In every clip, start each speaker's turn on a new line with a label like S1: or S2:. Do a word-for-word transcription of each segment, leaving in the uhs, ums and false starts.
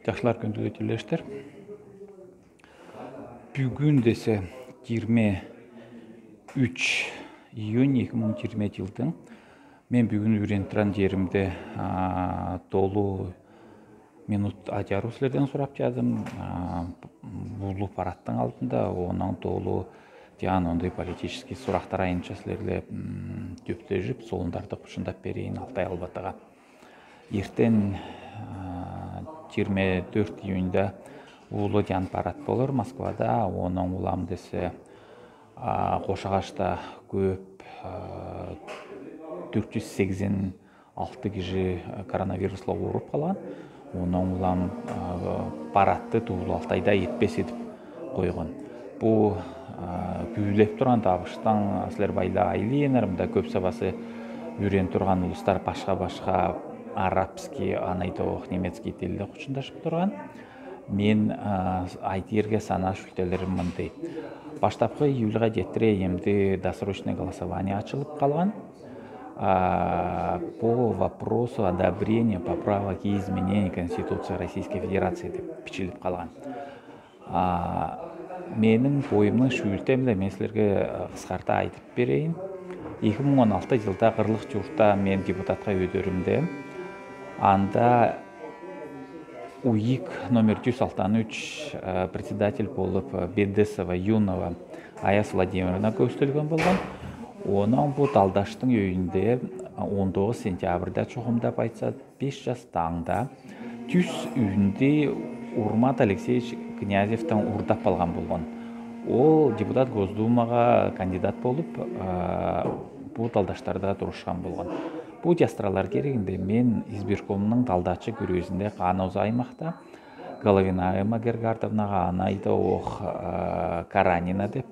S1: Жакшылар күндү элештер. Бүгүн десе жыйырма үч июнь эки миң жыйырма жылдың мен бүгүн үйрөнүп турган жеримде толуу минут ажаруу силерден сурап жадым. Бул парадтын алдында онун толуу жана ондой политический сурактар айнымча силерге көптөшүп сонундарды кушундап берейин Алтай Албатыга. Эртең жыйырма төрт июнда улуу жан парад болор Москвада. Онун улам десе Кош Агачта көп төрт жүз сексен алты киши коронавирусла ооруп калган. Онун улам парадты Туулуу Алтайда этпесе деп койгон. Бул күйүлөп турган табыштан силер байла айлыйнар. Мында көп сабасы үйрөнүп турган улустар башка-башка арабский, анайдоох немецкий тилде кучундашып турган. Мен айтырге санаа шүлтелерим мындай. Баштапкы июлга жетире эмди досрочное голосование ачылып калган. По вопросу одобрения поправок и изменений Конституции Российской Федерации деп бичилип калган. Менин боюмдун шүлтем эле мен силерге кыскарта айтып берейин. эки миң он алты жылда Кырлык жууртта мен депутатка өйдөрүмдө. Анда УИК номер жүз сексен үч председатель болуп Бедесова Юнова Аяз Владимировна көзтөлгөн болгон. Онун бул талдаштын өйүндө он тогуз сентябрда чогумдап айтса беш жастаңда түз үйүндө Урмат Алексеевич Князевден урдап алган болгон. Ол депутат Госдумага кандидат болуп, бул талдаштарда турушкан болгон. Бул жастыралар керегинде мен избиркомдун талдачы күрөзүндө Каноз аймакта Головина Эмма Гергардовнага, анайда ох Каранина деп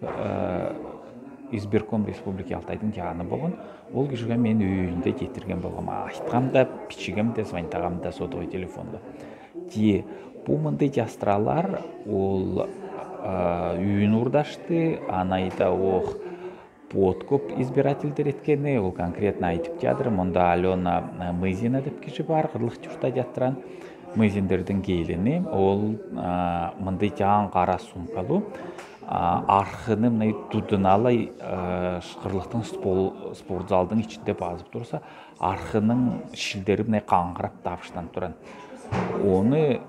S1: избирком Республики Алтайдын жааны болгон. Ол кишиге мен үйүндө жетирген болгом. Айткам да, бичигем да, звонтагам да сотовый телефондо. Ти бул мындай жастыралар ол үйүн урдашты, анайда ох подкоп избирательдер эткени, ол конкретно айтып жатыр. Монда Алена Мызина деп киши бар, Кырлык жууртта жаттыран Мызиндердин келини. Ол мындай жаан кара сумкалуу архыны мындай тудуналай Кырлыктын спортзалдын ичинде базып турса, архынын шилдери мындай каңгырап табыштанып турат. Оны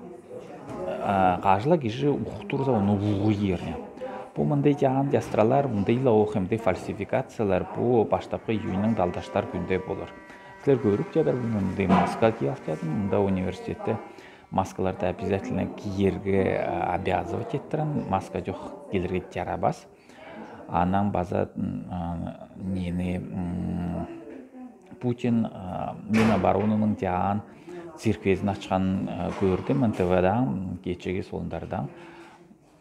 S1: кажыла киши уктурса, оны улуу жерне. Бул мындай жаан жастыралар, мындай эле ох эмдей фальсификациялар бул баштапкы июньнун далдаштар күндө болор. Силер көрүп жатыр, мындай маска кийип жатыр. Мында университетте маскаларды обязательно кийерге обязывать этtirен. Маска жок келерге жарабас. Анан база нени Путин Миноборонунун жаан цирквезин ачкан көрдүм эн тэ вэ-дан, кечеги сондардан.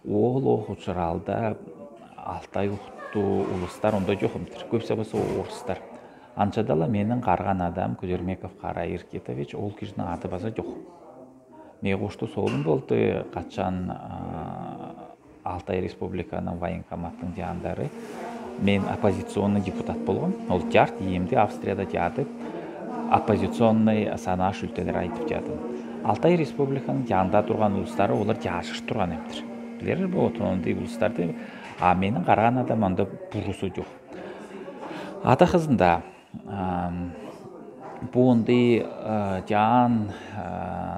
S1: Ол ох учуралда Алтай уктуу улустар ондо жок эмтир. Көпсө болсо орустар. Анчадала менин карган адам Кузермеков Кара Иркетович, ол кишинин аты база жок. Мен кошту соолум болду, качан Алтай Республиканын военкоматтын жаандары. Мен оппозиционный депутат болгом. Ол жарт ийимди Австрияда жатып, оппозиционный санаа шүлтелер айтып жатым. Алтай Республиканын жанында турган улустары олар жашыш турган эмтир. Билер бу отондой улустарды, а менин караган адам анда бурусу жок. Ата кызында бундай жаан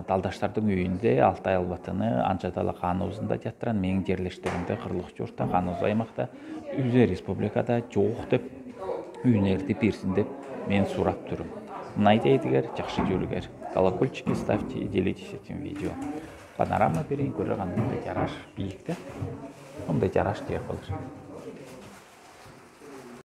S1: талдаштардын үйүндө Алтай Албатыны анчадала Канозунда жаттыран менин жерлештеримде Кырлык жууртта, Каноз аймакта, Үзө республикада жок деп үйүнөрдү берсин деп мен сурап турум. Мынайдегилер жакшы көрүңөр. Колокольчики ставьте и делитесь этим видео. Панорама берейин, көрө кандай жараш бийикте. Мындай жараш деп болор.